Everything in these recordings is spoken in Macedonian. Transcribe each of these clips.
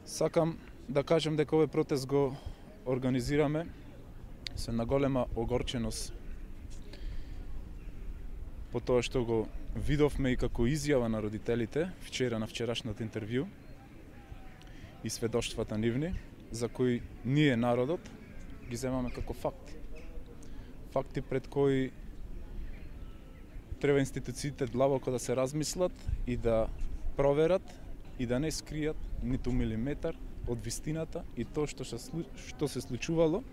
Сакам да кажем дека овој протест го организираме со една голема огорченост по тоа што го видовме и како изјава на родителите вчера на вчерашното интервју и сведоштвата нивни, за кои ние народот ги земаме како факти. Факти пред кои треба институциите длабоко да се размислат и да проверат и да не скријат ниту милиметар од вистината и тоа што се случувало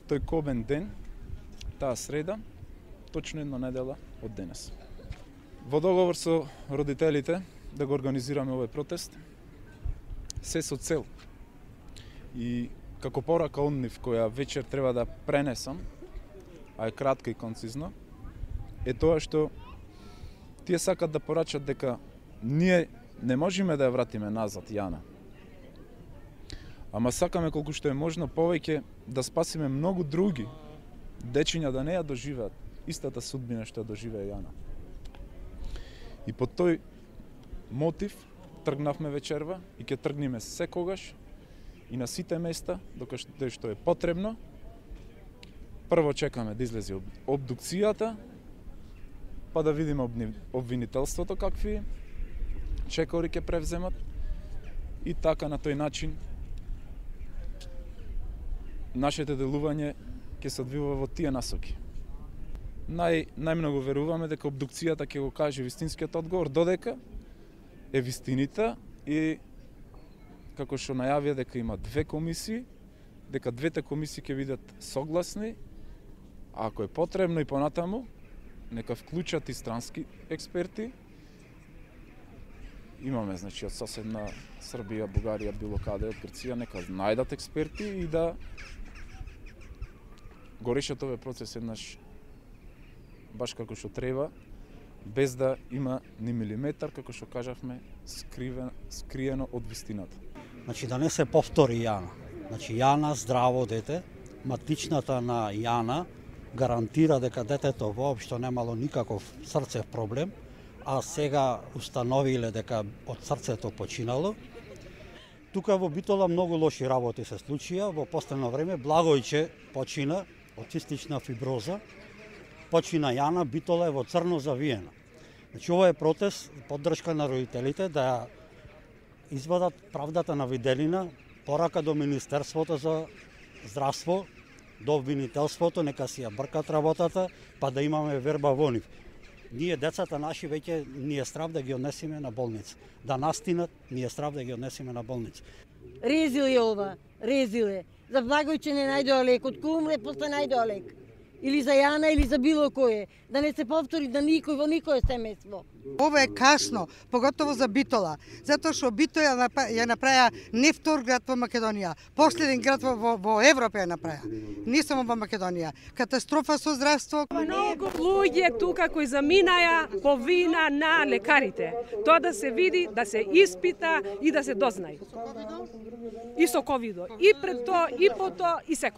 тој кобен ден, таа среда, точно една недела од денес. Во договор со родителите да го организираме овој протест, се со цел и како порака од нив која вечер треба да пренесам, а е кратка и концизна, е тоа што тие сакат да порачат дека ние не можеме да ја вратиме назад Јана. Ама сакаме колку што е можно повеќе да спасиме многу други дечиња да не ја доживеат истата судбина што ја доживеа Јана. И по тој мотив тргнавме вечерва и ќе тргнеме секогаш и на сите места докаде што е потребно. Прво чекаме да излезе обдукцијата, па да видиме обвинителството какви чекори ќе превземат и така на тој начин нашето делување ќе се одвива во тие насоки. Најмногу веруваме дека обдукцијата ќе го каже вистинскиот одговор, додека е вистинита и како што најавија дека има две комисии, дека двете комисии ќе бидат согласни, а ако е потребно и понатаму, нека вклучат и странски експерти. Имаме, значи, од соседна Србија, Бугарија, било каде, од Грција, нека најдат експерти и да го решат овој процес еднаш баш како што треба, без да има ни милиметар, како што кажавме, скриено од вистината. Значи да не се повтори Јана. Значи Јана здраво дете, матичната на Јана гарантира дека детето воопшто немало никаков срцев проблем, а сега установиле дека од срцето починало. Тука во Битола многу лоши работи се случија. Во последно време Благојче почина од цистична фиброза, почина Јана, Битола е во црно завиена. Значи ова е протест, поддршка на родителите да извадат правдата на виделина, порака до Министерството за здравство, до обвинителството, нека си ја бркат работата, па да имаме верба во нив. Ние децата наши веќе ни е страв да ги однесеме на болница. Да настинат, ни е страв да ги однесеме на болница. Резил е ова, резил е. За Благојче не најдоа лек, од кој умре после најдоа лек. Или за Јана, или за било кој. Да не се повтори да никој во никое семејство. Ова е касно, поготово за Битола, затоа што Битола ја направија не втор град во Македонија, последен град во Европа ја направија, не само во Македонија. Катастрофа со здравство. Многу луѓе тука кои заминаја по вина на лекарите. Тоа да се види, да се испита и да се дознае. И со ковидо, и пред тоа, и по тоа, и секој.